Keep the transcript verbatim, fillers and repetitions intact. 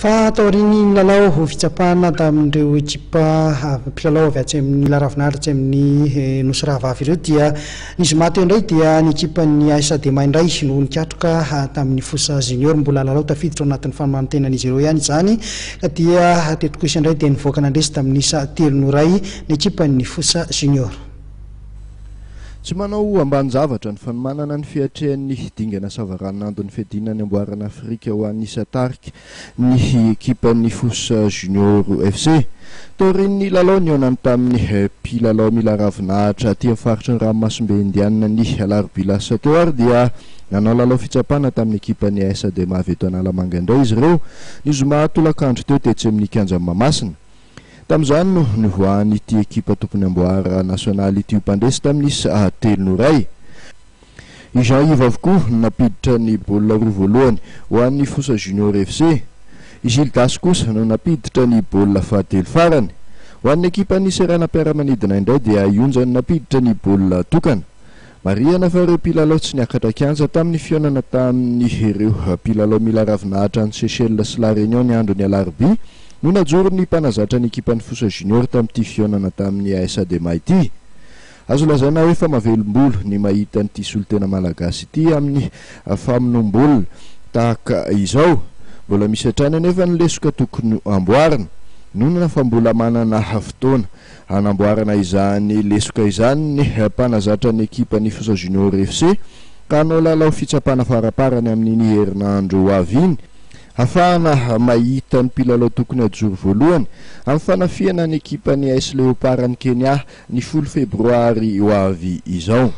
Fa taorian'ny lalao ho fitsapana tamin'ireo ekipa mpilalao avy atsy amin'ny laravinahitra atsy amin'ny Nosy Rahavavy ireo, dia ny zoma teo indray dia ny ekipan'ny A S Adema indray no nikatroka tamin'ny Fosa Junior. Mbola lalao tafiditra ao anatin'ny fanomantenan'izy ireo ihany izany, ka dia teto kosa indray dia nivoaka nandresy tamin'ny isa telo no ray ny ekipan'ny Fosa Junior. Tsy manao ambany-javatra ny fanomanana ny fiatrehan'ny dingana savaranonando ny fiadiana ny amboarana Afrika ho an'ny isan-tarika ny ekipan'ny Fosa Junior F C. Taorian'ny lalao nihaonany tamin'ny mpilalao mila ravinahitra aty amin'ny faritry ny ranomasimbe Indianina ny alarobia lasa teo ary, dia nanao lalao fitsapana tamin'ny ekipan'ny A S Adema avy eto Analamanga indray izy ireo ny zoma tolakandro teo tetsy amin'ny kianja Mahamasina. Tamin'izany no nivoahany ity ekipa tompony amboara nasionaly ity mpandresy tamin'ny isa telo no ray. I Jean Yves avokoa no nampiditra ny baolina roa voalohany ho an'ny Fosa Junior F C. I Gildas kosa no nampiditra ny baolina fahatelo farany. Ho an'ny ekipan'ny seranam-piaramanidina indray, dia Ionja no nampiditra ny baolina tokana. Marihana fa ireo mpilalao tsy niakatra kianja tamin'ny fihaonana tamin'ny ireo mpilalao mila ravinahitra ny Seychelles sy La Réunion ny andro ny alarobia no najoro ny mpanazatra ny ekipan'ny Fosa Junior tamin'ity fihaonana tamin'ny A S Adema ity. Azo lazaina hoe fa mahavelom-bolo ny mahita nyity solontena malagasy ity amin'ny famonoam-baolina tahaka izao. Mbola misy hatrany anefa ny lesoka tokony amboarina nonana fa mbola manana fotoana anamboarana izany lesoka izany ny mpanazatra ny ekipan'ny Fosa Junior F C, ka hanao lalao fitsapana faraparany amin'iny herinandro avy iny ahafahana mahita ny mpilalao tokony ajoro voalohany amin'ny fanafihana ny ekipan'ny A S Léopard ny Kenya ny folo febroary ho avy izao.